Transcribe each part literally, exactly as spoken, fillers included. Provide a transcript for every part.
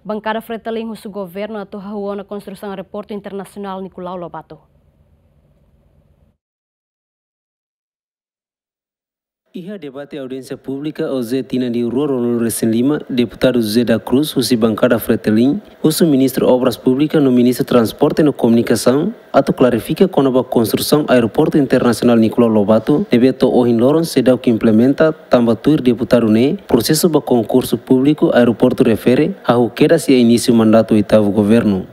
Bankada Fretilin husu governu atu hahú ona konstrusaun aeroportu internasionál Nicolau Lobato. Iha debate audiénsia públika OJE tinan rihun rua ruanulu resin lima, Deputadu José da Cruz, husi bankada Fretilin, husu Ministru Obras Públikas no Ministru Transporte no Komunikasaun atu klarifika kona-ba konstrusaun Aeroportu Internasionál Nicolau Lobato ne'ebé to'o ohin loron seidauk implementa, tanba tuir deputadu ne'e, prosesu ba konkursu públiku aeroportu refere hahú kedas iha inísiu mandatu oitavu governu.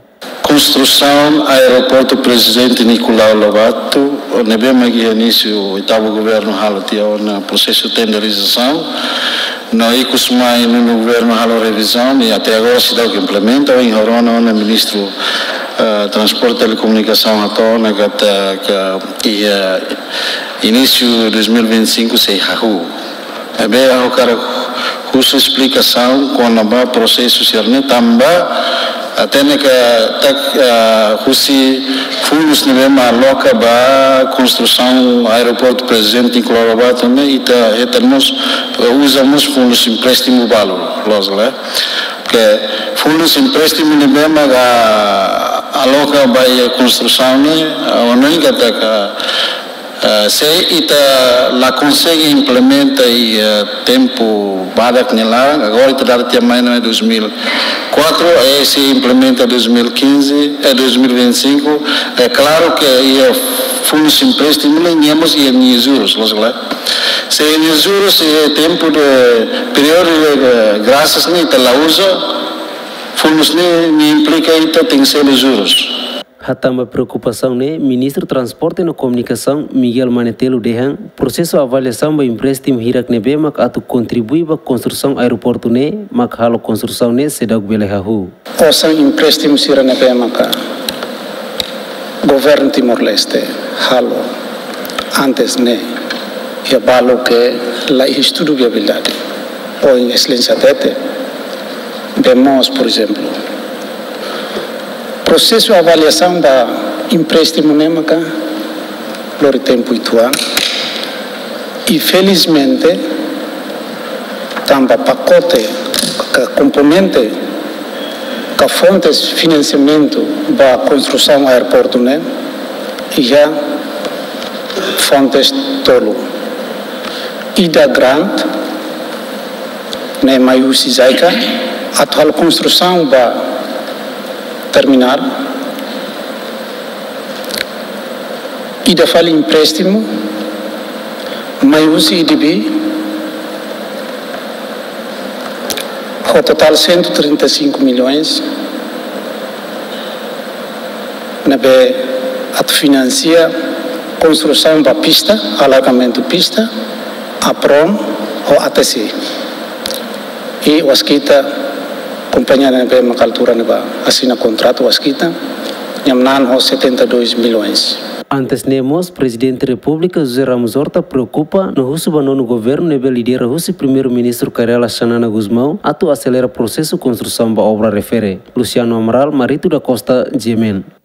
Konstrusaun Aeroportu Prezidente Nicolau Lobato, ne'ebé mak iha inísiu oitavu governu halo tiha ona prosesu tenderizasaun, no ikus mai nonu governu halo revizaun, i até agora seidauk implementa, ohin rona ona Ministru, eh, Transporte Telekomunikasaun hato'o ona katak, eh, iha, eh, inísiu dois mil e vinte e cinco sei hahú. Ne'ebé ha'u hakarak husu esplikasaun kona-ba prosesu sira-ne'e tanba, ah, hatene katak, ah, husi fundus ne'ebé mak aloka ba konstrusaun Aeroportu Prezidente Nicolau Lobato ne'e, ita hetan mós, uza mós fundus empréstimu balu, loos ka lae. Ke fundus empréstimu ne'ebé mak, ah, aloka ba iha konstrusaun ne'e, ah, hanoin katak, ah, ah, se ita la konsege implementa iha, eh, tempu badak nia laran, agora ita dada tiha mai ona dois mil e quatro, eh, se implementa dois mil e quinze, eh, dois mil e vinte e cinco, é klaru ke iha fundus empréstimu ne'e nia mós iha nia jurus, loos ka lae. Se iha nia jurus, iha tempu de períodu de, eh, grasas ne'e ita la uza, fundus ne'e, ne'e implika ita tenke selu jurus. Hatán ba preokupasaun ne'e, Ministru Transporte no Komunikasaun, Miguel Manetelu dehan, prosesu avaliasaun ba empréstimu hirak ne'ebé mak atu kontribui ba konstrusaun aeroportu ne'e, mak halo konstrusaun ne'e seidauk bele hahú. Osan empréstimu sira ne'ebé maka governu Timor-Leste halo antes ne'e, iha balu ke la iha estudu viabilidade. Ohin Exelénsia hatete, bee moos, por ezemplu. Prosesu avaliasaun ba empréstimu ne'e maka lori tempu uitoan. I felizmente, tanba pakote ka komponente ka fontes finansiamentu ba konstrusaun aeroportu ne'e iha fontes tolu. Ida grant, ne'e mai husi JICA, atu halo konstrusaun ba terminál. Ida fali empréstimu, mai husi ADB, ho totál cento e trinta e cinco milhões, ne'ebé atu finansia konstrusaun ba pista, alargamentu pista, APROM, ho ATC. I Waskita, kompañia ne'ebé maka altura ne'ebá asina kontratu Waskita, nia manán ho setenta e dois milhões. Antes ne'e mós, Prezidente Repúblika José Ramos Horta preokupa no husu ba nonu governu ne'ebé lidera husi Primeiru-Ministru Kay Rala Xanana Gusmão atu aselera prosesu konstrusaun ba obra refere. Luciano Amaral, Marito da Costa, GMN.